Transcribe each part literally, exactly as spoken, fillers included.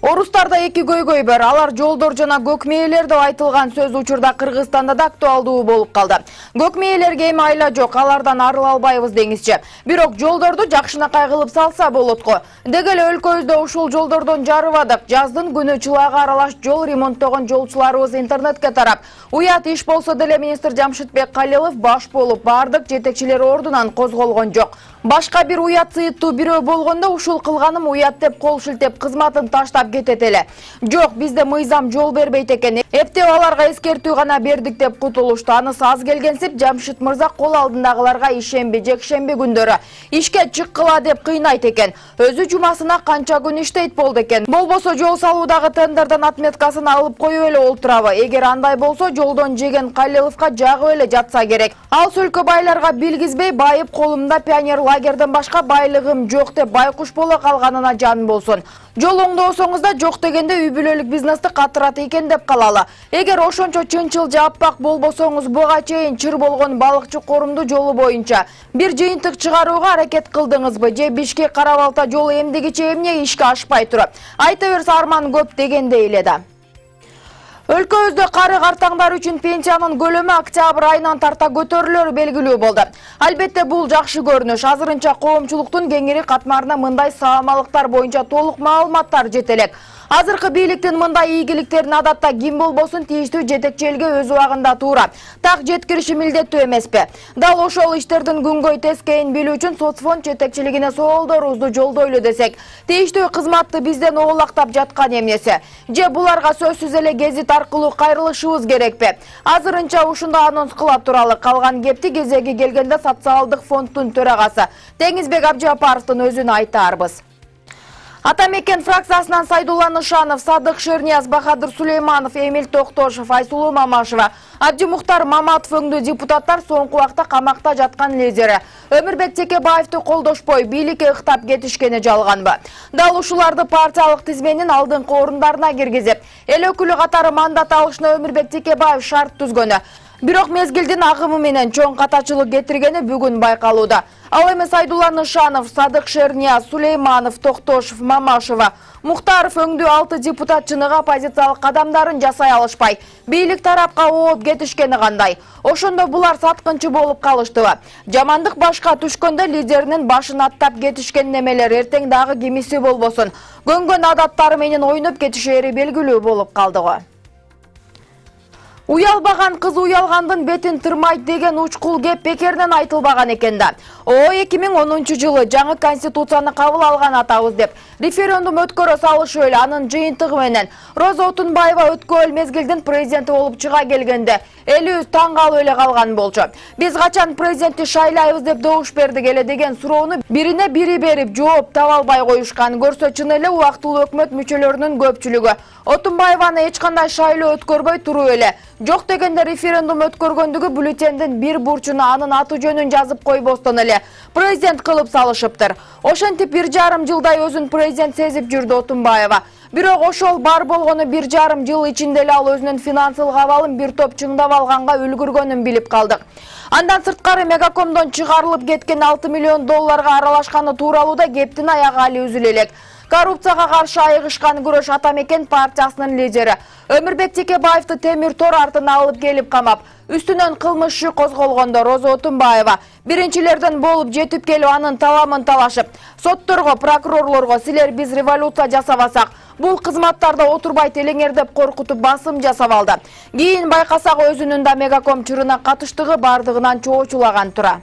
Орустарда эки көйгөй бар. Алар жолдор жана көк мээлер деп айтылган сөз учурда Кыргызстанда да актуалдуу болуп калды. Көк мээлерге эми айла жок, алардан арыла албайбыз деңизчи. Бирок жолдорду жакшынакай кылып салса болот го. Деги эле өлкөбүздө ушул жолдордон жарыбадык. Жаздын күнү чылаага аралаш жол ремонттогон жолчуларыбыз интернетке тарап. Уят иш болсо деле министр Жамшитбек Калилов баш болуп, бардык жетекчилер ордунан козголгон жок. Башка бир уят сыйыттуу бирөө болгондо ушул кылганым уят деп кол шилтеп кызматын таштап кетет эле. Жок, бизде мыйзам жол бербейт экен. Эптеп аларга эскертүү гана бердик деп кутулушту. Анысы аз келгенсип Жамшит мырза кол алдындагыларга ишемби, жекшемби күндөрү ишке чыккыла деп кыйнайт экен. Өзү жумасына канча күн иштейт болду экен. Болбосо жол салуудагы тендерден отметкасын алып коюп эле олтурабы. Эгер андай болсо жолдон жеген Калиловго жагып эле жатса керек. Ал сөлкө байларга билгизбей байып колумда пионер лагерден башка байлыгым жок деп байкуш боло калганына жан болсун. Жол оңдосоңуз да жок дегенде үй бүлөлүк бизнести катырат экен деп калалы. Эгер ошончо чынчыл жаппак болбосоңуз буга чейин чыр болгон балыкчы корумду жолу боюнча бир жыйынтык чыгарууга аракет кылдыңызбы? Же Бишкек Кара-Балта жолу эмдигиче эмне ишке ашпай туруп? Айта берсе арман көп дегендей эле да. Өлкөбүздө кары картаңдар үчүн пенсиянын көлөмү октябрь айынан тарта көтөрүлөрү белгилүү болду. Албетте бул жакшы көрүнүш. Азырынча коомчулуктун кеңири катмарына мындай саамалыктар боюнча толук маалыматтар жетелек. Азыркы бийликтин мындай ийгиликтерин адатта ким болбосун тийиштүү жетекчи элге өз убагында туура так жеткириши милдеттүү эмеспи? Дал ошол иштердин күнгөй тескейин билүү үчүн соцфонд жетекчилигине соолдорубузду жолдойлу десек, тийиштүү кызматты бизден оолактап жаткан эмнеси? Же буларга сөзсүз эле гезит аркылуу кайрылышыбыз керекпи? Азырынча ушундай анонс кыла туралы. Калган кепти кезеги келгенде социалдык фонддун төрагасы Теңизбек Абжапаровдун өзүнө айтаарбыз. Атамекен фракциясынан Сайдулла Нышанов, Садык Шернияз, Бахадыр Сулейманов, Эмил Токтошев, Айсулуу Мамашева, Абдимухтар Маматов өңдүү депутаттар соңку убакта камакта жаткан лидери Өмүрбек Текебаевди колдошпой бийликке ыктап кетишкени жалганбы? Дал ушуларды партиялык тизменин алдыңкы орундарына киргизип, эл өкүлү катары мандат алышына Өмүрбек Текебаев шарт түзгөнү. Бирок мезгилдин агымы менен чоң катачылык кетиргени бүгүн байкалууда. Ал эми Сайдулла Нышанов, Садык Шернияз, Сулейманов, Токтошев, Мамашева, Мухтаров өңдүү алты депутат чыныгы оппозициялык кадамдарын жасай алышпай, бийлик тарапка ооп кетишкени кандай? Ошондо булар саткынчы болуп калыштыбы? Жамандык башка түшкөндө лидеринин башын аттап кетишкен немелер эртең дагы кимиси болбосун көнгөн адаттары менен ойноп кетишери белгилүү болуп калды го. Уялбаган кыз уялгандын бетин тырмайт деген учкул кеп бекерден айтылбаган экен да. О эки миң онунчу жылы жаңы конституцияны кабыл алган атабыз деп референдум өткөрө салышы эле анын жыйынтыгы менен Роза Отунбаева өткөн мезгилдин президенти болуп чыга келгенде элибиз таң калып эле калган болчу. Биз качан президентти шайлайбыз деп добуш бердик эле деген суроону бирине бири берип жооп таба албай коюшкан. Көрсө чын эле убактылуу өкмөт мүчөлөрүнүн көпчүлүгү Отунбаеваны эч кандай шайлоо өткөрбөй туруп эле жок дегенде референдум өткөргөндүгү бюллетендин бир бурчуна анын аты жөнүн жазып койбостон эле президент кылып салышыптыр. Ошентип бир жарым жылдай өзүн президент сезип жүрдү Отунбаева. Бирок ошол бар болгону бир жарым жыл ичинде эле ал өзүнүн финансылык абалын бир топ чыңдап алганга үлгүргөнүн билип калдык. Андан сырткары Мегакомдон чыгарылып кеткен алты миллион долларга аралашканы тууралууда кептин аягы али үзүлө элек. Коррупцияга каршы айыгышкан күрөш Атамекен партиясынын лидери Өмүрбек Текебаевди темир тор артына алып келип камап, үстүнөн кылмыш иши козголгондо Роза Отунбаева биринчилерден болуп жетип келип анын таламын талашып, сотторго, прокурорлорго силер биз революция жасабасак, бул кызматтарда отурбайт элеңер деп коркутуп басым жасап алды. Кийин байкасак өзүнүн да Мегаком чырына катыштыгы бардыгынан чоочулаган тура.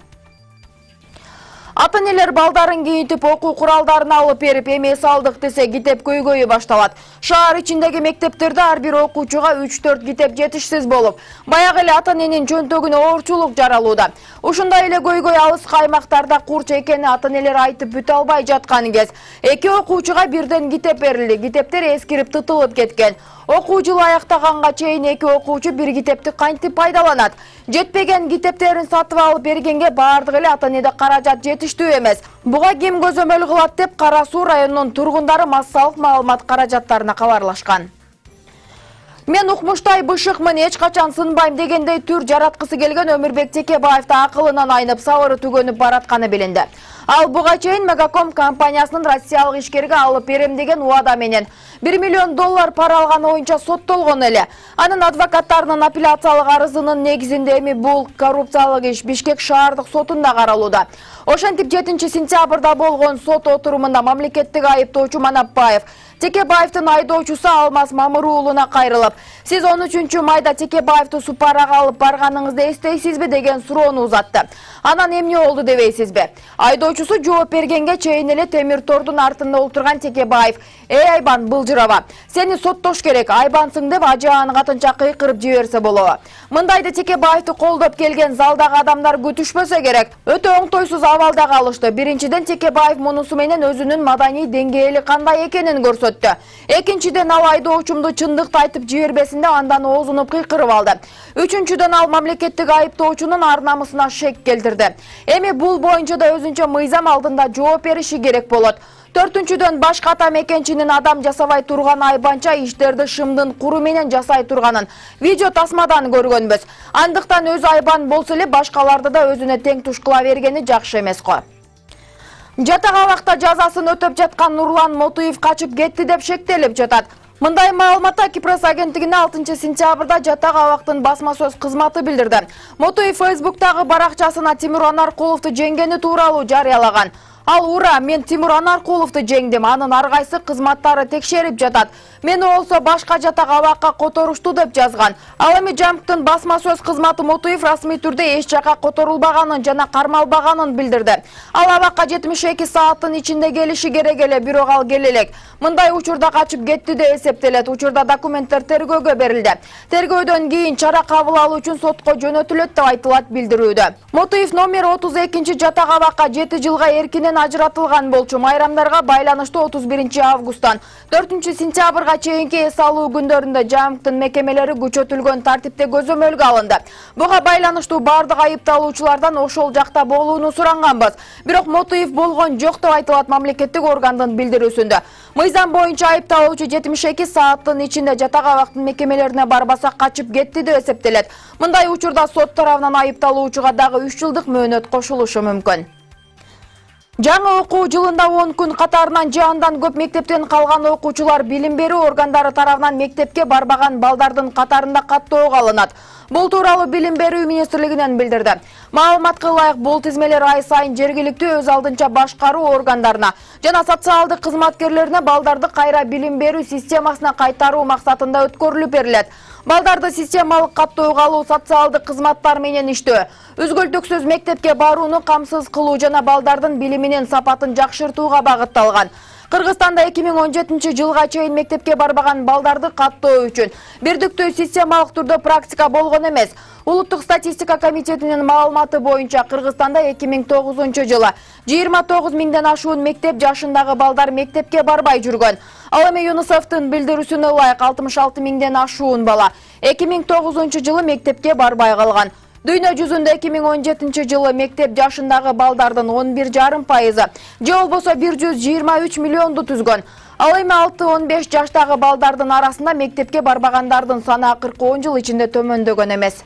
Ата-энелер балдарын кийинтип окуу куралдарын алып берип эмес алдык десе китеп көйгөйү башталат. Шаар ичиндеги мектептерде ар бир окуучуга үч төрт китеп жетишсиз болуп, баягы эле ата-эненин чөнтөгүнө оорчулук жаралууда. Ушундай эле көйгөй алыскы аймактарда курч экени ата-энелер айтып бүтө албай жаткан кез. Эки окуучуга бирден китеп берилди. Китептер эскирип тытылып кеткен. Окуу жылы аяктаганга чейин эки окуучу бир китепти кантип пайдаланат? Жетпеген китептерин сатып алып бергенге бардык эле ата-энеде каражат жетиштүү эмес. Буга ким көзөмөл кылат деп Кара Суу районунун тургундары массалык маалымат каражаттарына кабарлашкан. Мен укмуштай бышыкмын, эч качан сынбайм дегендей түр жараткысы келген Өмүрбек Текебаевди акылынан айнып, сабыры түгөнүп баратканы билинди. Ал буга чейин Мегаком компаниясынын Россиялык ишкерге алып берем деген убада менен бир миллион доллар пара алган боюнча соттолгон эле. Анын адвокаттарынын апелляциялык арызынын негизинде эми бул коррупциялык иш Бишкек шаардык сотунда каралууда. Ошентип жетинчи сентябрда болгон сот отурумунда мамлекеттик айыптоочу Манапбаев Текебаевдин айдоочусу Алмаз Мамыр уулуна кайрылып, сиз он үчүнчү майда Текебаевди Супарага алып барганыңызды эстейсизби деген суроону узатты. Анан эмне болду дебейсизби? Айдоочусу жооп бергенге чейин эле темир тордун артында отурган Текебаев: "Эй Айбан, былжырава. Сени соттош керек, Айбансың" деп ажаан катынча кыйкырып жиберсе болобу. Мындайды Текебаевди колдоп келген залдагы адамдар күтүшпөсө керек. Өтө оңтойсуз абалда калышты. Биринчиден Текебаев мунусу менен өзүнүн маданий деңгээли кандай экенин көрсөттү. Экинчиден ал айдоочумду чындыкты айтып жибербесинде андан оозунуп кыйкырып алды. Үчүнчүдөн ал мамлекеттик айыптоочунун ар намысына шек келтирди. Эми бул боюнча да өзүнчө мыйзам алдында жооп бериши керек болот. Төртүнчүдөн башка ата мекенчинин адам жасабай турган айбанча иштерди шымдын куру менен жасай турганын видео тасмадан көргөнбүз. Андыктан өзү айбан болсо эле башкаларды да өзүнө тең туш кыла бергени жакшы эмес го. Жатак абакта жазасын өтөп жаткан Нурлан Мотуев качып кетти деп шектелип жатат. Мындай маалыматты Кипрос агенттигине алтынчы сентябрда жатак абактын басма сөз кызматы билдирди. Мотуев Фейсбуктагы баракчасына Тимур Анаркуловду жеңгени тууралуу жарыялаган. Ал: "Ура, мен Тимур Анаркуловду жеңдим, анын ар кайсы кызматтары текшерип жатат. Мени болсо башка жатак абакка которушту" деп жазган. Ал эми Жамктын басма сөз кызматы Мотуев расмий түрдө эч жака которулбаганын жана кармалбаганын билдирди. Ал абакка жетимиш эки сааттын ичинде келиши керек эле, бирок ал келе элек. Мындай учурда качып кетти деп эсептелет. Учурда документтер тергөөгө берилди. Тергөөдөн кийин чара кабыл алуу үчүн сотко жөнөтүлөт деп айтылат билдирүүдө. Мотуев номер отуз экинчи жатак абакка жети жылга эркинен ажыратылган болчу. Майрамдарга байланыштуу отуз биринчи августтан төртүнчү сентябрга чейинки эс алуу күндөрүндө Жамктын мекемелери күчөтүлгөн тартипте көзөмөлгө алынды. Буга байланыштуу бардык айыпталуучулардан ошол жакта болууну суранганбыз. Бирок Мотуев болгон жок деп айтылат мамлекеттик органдын билдирүүсүндө. Мыйзам боюнча айыпталуучу жетимиш эки сааттын ичинде жатак абактын мекемелерине барбаса качып кетти деп эсептелет. Мындай учурда сот тарабынан айыпталуучуга дагы үч жылдык мөөнөт кошулушу мүмкүн. Жаңы окуу жылында он күн катарынан же андан көп мектептен калган окуучулар билим берүү органдары тарабынан мектепке барбаган балдардын катарында каттоого алынат. Бул тууралуу Билим берүү министрлигинен билдирди. Маалыматка ылайык бул тизмелер ай сайын жергиликтүү өз алдынча башкаруу органдарына жана социалдык кызматкерлерине балдарды кайра билим берүү системасына кайтаруу максатында өткөрүлүп берилет. Балдарды системалык каттоого алуу, социалдык кызматтар менен иштөө, үзгүлтүксүз мектепке барууну камсыз кылуу жана балдардын билиминин сапатын жакшыртууга багытталган. Кыргызстанда эки миң он жетинчи жылга чейин мектепке барбаган балдарды каттоо үчүн бирдиктүү системалык түрдө практика болгон эмес. Улуттук статистика комитетинин маалыматы боюнча Кыргызстанда эки миң тогузунчу жылы жыйырма тогуз миңден ашуун мектеп жашындагы балдар мектепке барбай жүргөн. Ал эми ЮНИСЕФтин билдирүүсүнө ылайык алтымыш алты миңден ашуун бала эки миң тогузунчу жылы мектепке барбай калган. Дүйнө жүзүндө эки миң он жетинчи жылы мектеп жашындагы балдардын он бир жарым пайызы же болбосо бир жүз жыйырма үч миллионду түзгөн. Ал эми алты он беш жаштагы балдардын арасында мектепке барбагандардын саны акыркы он жыл ичинде төмөндөгөн эмес.